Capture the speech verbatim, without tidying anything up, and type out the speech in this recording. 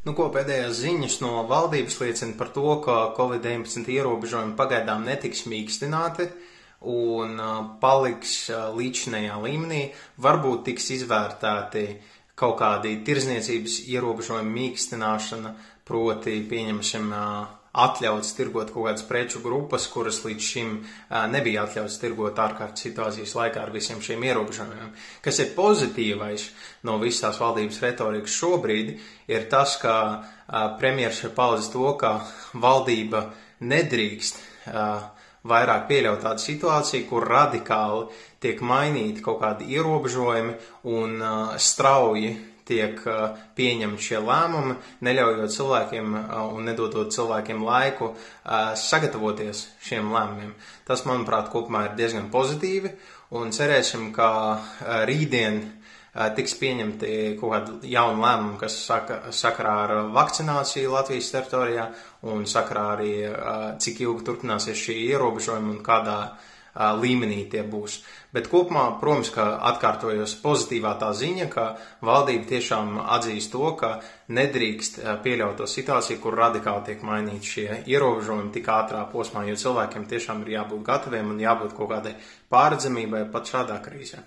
Nu, ko pēdējās ziņas no valdības liecina par to, ka Covid deviņpadsmit ierobežojumi pagaidām netiks mīkstināti un paliks līdzinējā līmenī. Varbūt tiks izvērtēti kaut kādi tirzniecības ierobežojumi mīkstināšana, proti pieņemsim atļauts tirgot kaut kādas preču grupas, kuras līdz šim nebija atļauts tirgot ārkārtas situācijas laikā ar visiem šiem ierobežojumiem. Kas ir pozitīvais no visās valdības retorikas šobrīd, ir tas, ka premjeras ir paudzis to, ka valdība nedrīkst vairāk pieļaut tādu situāciju, kur radikāli tiek mainīti kaut kādi ierobežojumi un strauji tiek pieņemti šie lēmumi, neļaujot cilvēkiem un nedodot cilvēkiem laiku sagatavoties šiem lēmumiem. Tas, manuprāt, kopumā ir diezgan pozitīvi, un cerēsim, ka rītdien tiks pieņemti kaut kādi jauni lēmumi, kas saka, sakarā ar vakcināciju Latvijas teritorijā un sakarā arī, cik ilgi turpināsies šī ierobežojuma un kādā līmenī tie būs. Bet kopumā, protams, ka atkārtojos pozitīvā tā ziņa, ka valdība tiešām atzīst to, ka nedrīkst pieļaut to situāciju, kur radikāli tiek mainīti šie ierobežojumi tik ātrā posmā, jo cilvēkiem tiešām ir jābūt gataviem un jābūt kaut kādai pārredzamībai pat šādā krīzē.